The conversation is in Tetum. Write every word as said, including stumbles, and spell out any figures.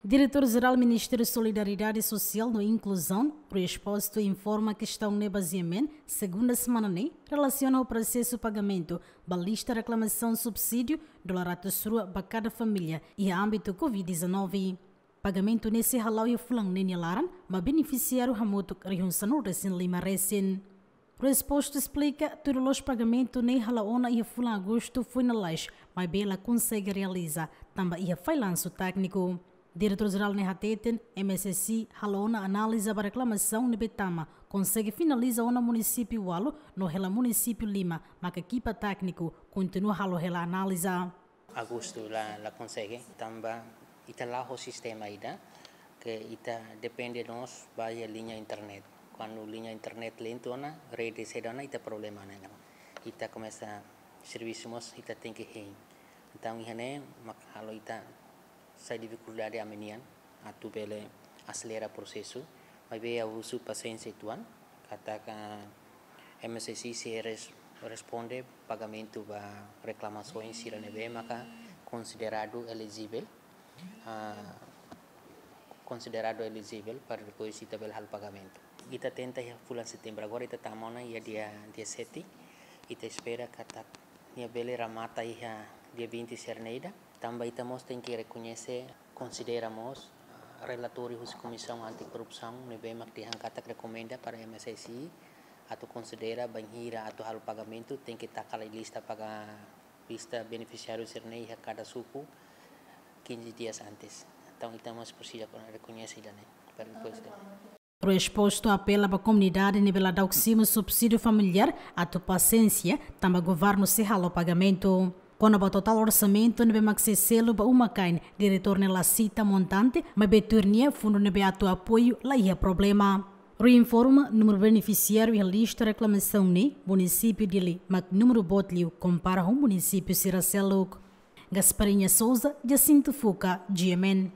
Diretór Jerál Ministériu Solidariedade Sosiál no Inkluzaun, Rui Exposto, informa kestaun ne'e bazeamentu, segunda semana ne'e, relasiona ho prosesu pagamentu ba lista reklamasaun subsídiu dolar ratus rua ba kada família iha ámbitu covid dezanove. Pagamentu ne'e sei hala'o iha fulan ne'e nia laran, ba benefisiáriu hamutuk rihun sanulu-resin-lima resin. Rui Exposto esplika, tuir loloos pagamentu ne'e hala'o ona iha fulan Agostu foin lalais, maibé la konsege realiza, tanba iha fallansu tékniku. Diretór Jerál ne'e hateten, M S S I hala'o ona analiza ba reklamasaun ne'ebé tama, konsege finaliza ona munisípiu ualu, no hela munisípiu lima, maka ekipa tékniku kontinua halo hela analiza. Agostu la, la konsege, tanba ita la'o ho sistema ida, ke ita depende mós ba iha liña internet. Kuandu liña internet lentu ona, rede seda ona, ita problema ona. Ita komesa servisu mós, ita tenke hein. Entaun, iha ne'e mak halo ita sai difikuldade ami-nian atu bele aselera prosesu, maibé ha'u husu pasiénsia uitoan, katak M S S I sei res-, responde pagamentu ba reklamasoens sira ne'ebé maka konsideradu elijivel, ah, konsideradu elijivel para depois ita bele halo pagamentu. Ita tenta iha fulan Setembru, agora ita tama ona iha dia, dia sete, ita espera katak nia bele remata iha dia vinte sira-ne'e ida, tanba ita mós tenke rekoñese, konsidera mós, ah, relatóriu husi Komisaun Anti-Korrupsaun, ne'ebé mak dehan katak rekomenda para M S S I atu konsidera bainhira atu halo pagamentu, tenke taka lai lista paga, lista benefisiáriu sira-ne'e iha kada suku quinze dias antes. Entaun, ita mós presiza rekoñese ida-ne'e, para depois de Rui Exposto apela ba komunidade ne'ebé la daudaun simu subsídiu familiár atu pasiénsia, tanba governu sei halo pagamentu. Kona-ba totál orsamentu ne'ebé mak sei selu ba uma-kain, diretór ne'e la sita montante, maibé tuir nia fundu ne'ebé atu apoiu la iha problema. Rui informa, númeru benefisiáriu iha lista reklamasaun ne'e, munisípiu Dili mak númeru boot liu kompara ho munisípiu sira seluk. Gasparinha Souza, Jacinto Fuca, G M N.